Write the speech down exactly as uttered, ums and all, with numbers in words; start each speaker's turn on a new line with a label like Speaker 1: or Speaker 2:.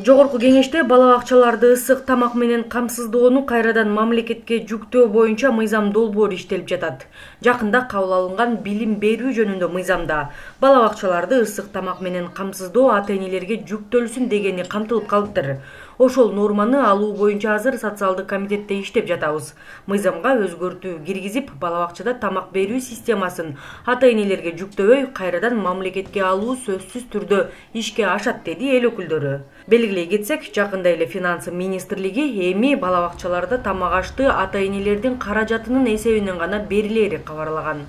Speaker 1: Жогорку кеңеште бала бакчаларды ысык тамак менен камсыздоону кайрадан мамлекетке жүктөө боюнча мыйзам долбоору иштелип жатат. Жакында кабыл алынган билим берүү жөнүндө мыйзамда бала бакчаларды ысык тамак менен камсыздоо ата-энелерге жүктөлсүн дегени камтылып калыптыр. Ошол норманы алуу боюнча азыр социалдык комитетте иштеп жатабыз. Мыйзамга өзгөртүү киргизип, бала бакчада тамак берүү системасын ата-энелерге жүктөбөй, кайрадан мамлекетке алуу сөзсүз түрдө ишке ашат, деди эл өкүлдөрү. Белгилей кетсек, жакында эле финансы министрлиги эми бала бакчаларда тамак ашты ата-энелердин каражатынын эсебинен гана берилери кабарлаган.